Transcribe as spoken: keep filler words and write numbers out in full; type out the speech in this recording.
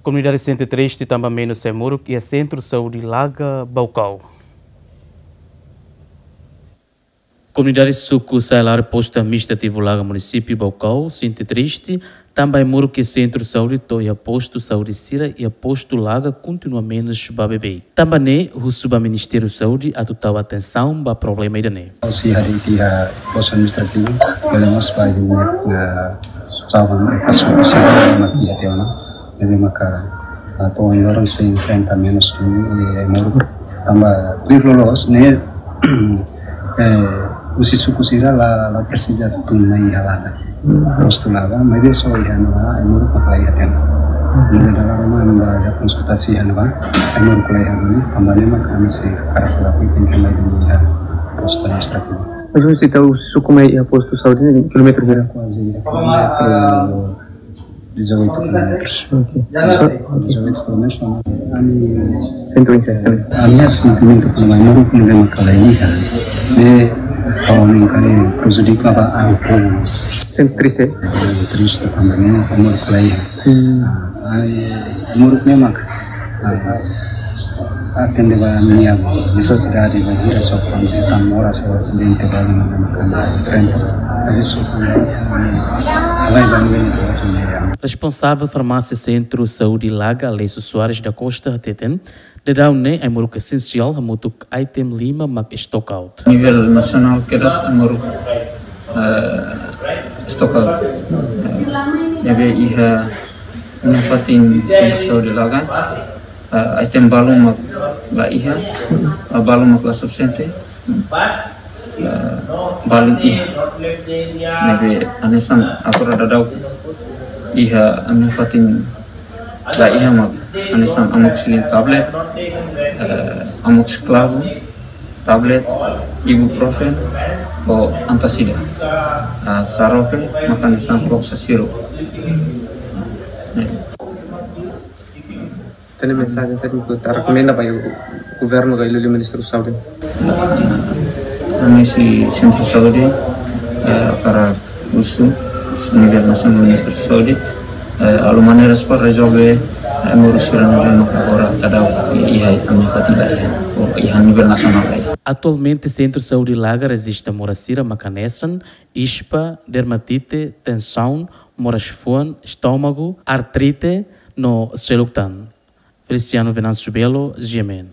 Komunidade sente triste tanba menus ai-moruk iha Sentru Saúde Laga, Baucau. Komunidade suku Sailare, Postu Administrativu Laga, Munisípiu Baucau, sente triste tanba ai-moruk iha Sentru Saúde to'o iha postu saúde sira iha Postu Laga kontinua menus ba bebé. Tanba ne'e, husu ba Ministériu Saúde atu tau atensaun ba problema ida-ne'e. Husi hari iha Postu Administrativu, bele mós ba iha, eh, saban, eh, kasu, kasu, mak iha tiha ona. Ne'ebé maka, ah, to'o ohin loron sei enfrenta menus tun, eh, ai-moruk. Tanba tuir loloos ne'e, eh, husi suku sira la, la presiza tun mai iha Laga. Postu Laga, maibé só iha ne'ebá ai-moruk mak la iha tiha ona. Ne'ebé dala ruma ami bá konsultasi iha ne'ebá, ai-moruk la iha tiha ona, tanba ne'e mak ami sei hakarak lakukan kembali iha Postu Administrativu. Mas husi tau suku mai iha postu saúde ne'e kilómetru hira? Kuaze kilómetru dezoito kilómetros. Ok. Ok. Dezoito kilómetros, ami, ami, Sentru Inserta. Ami iha sentimentu kona-ba ai-moruk ne'ebé maka la iha. Ne'e, ha'u hanoin katak prejudika ba ami povu. Sente triste? Eh, triste tanba ne'e ai-moruk la iha. Hmm. Ah, ai-moruk ne'e maka, ah, atende ba ami-nia nesesidade bainhira só kuandu ita moras ou asidente ba ne'ebé maka enfrenta. Ne'e só kuandu, ah, halai ba ne'ebé maka. Responsavel Farmásia Sentru Saúde Laga, Alessio Soares da Costa, hateten, daudaun ne'e ai-moruk esensiál hamutuk item lima mak stock out. Nivel nasionál kedas ai-moruk, eh, stock out. Eh, ne'ebé iha ami-nia fatin Sentru Saúde Laga, eh, item balu mak la iha, eh, balu mak la sufisiente, eh, balu iha. Ne'ebé hanesan agora daudaun iha ami-nia fatin la iha mak hanesan amoxicilin tablet, eh, amoxiclav tablet, ibuprofen, ho antacida. Ah, xarope mak hanesan loxaciro. Ne'e. Tenke mensajen saida mak ita rekomenda ba iha governu ka iha liuliu Ministériu Saúde? Ami husi Sentru Saúde, eh, hakarak husu nivel nasionál Ministériu Saúde, eh, halo maneiras para rezolve, eh, moras sira ne'ebé maka agora daudaun iha ami-nia fatin la iha, ou iha nivel nasionál la iha. Atualmente, Sentru Saúde Laga rejista moras sira mak hanesan ispa, dermatite, tensaun, moras fuan, estómagu, artrite, no seluk tan. Feliciano Venâncio Belo, G M N.